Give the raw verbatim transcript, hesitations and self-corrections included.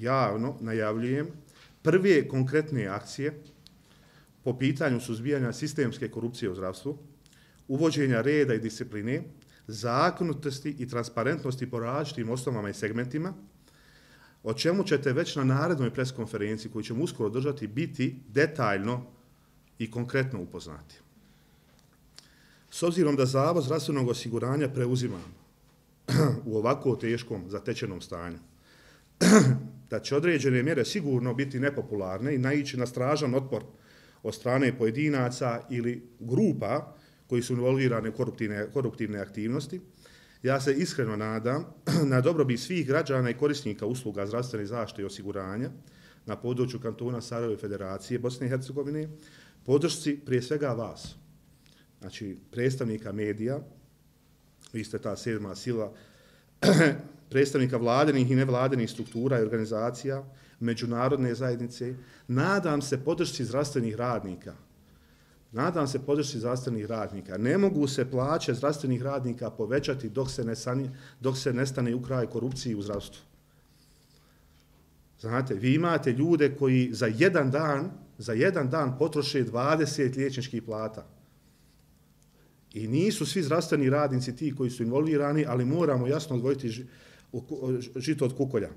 javno najavljujem prve konkretne akcije po pitanju suzbijanja sistemske korupcije u zdravstvu, uvođenja reda i discipline, zakonitosti i transparentnosti po različitim osnovama i segmentima, o čemu ćete već na narednoj preskonferenciji koju ćemo uskoro održati biti detaljno i konkretno upoznati. S obzirom da Zavod zdravstvenog osiguranja preuzima u ovako teškom zatečenom stanju, da će određene mjere sigurno biti nepopularne i naići na stražan otpor od strane pojedinaca ili grupa koji su involvirane u koruptivne, koruptivne aktivnosti, ja se iskreno nadam na dobrobit svih građana i korisnika usluga zdravstvene zaštite i osiguranja na području kantona Sarajeva i Federacije Bosne i Hercegovine, podršci prije svega vas, znači predstavnika medija, vi ste ta sedma sila, predstavnika vladinih i nevladinih struktura i organizacija, međunarodne zajednice, nadam se podršci zdravstvenih radnika. Nadam se podršci zdravstvenih radnika. Ne mogu se plaće zdravstvenih radnika povećati dok se ne, sani, dok se ne stane u kraj korupciji u zdravstvu. Znate, vi imate ljude koji za jedan dan, za jedan dan potroše dvadeset liječničkih plata. I nisu svi zdravstveni radnici ti koji su involvirani, ali moramo jasno odvojiti žito od kukolja.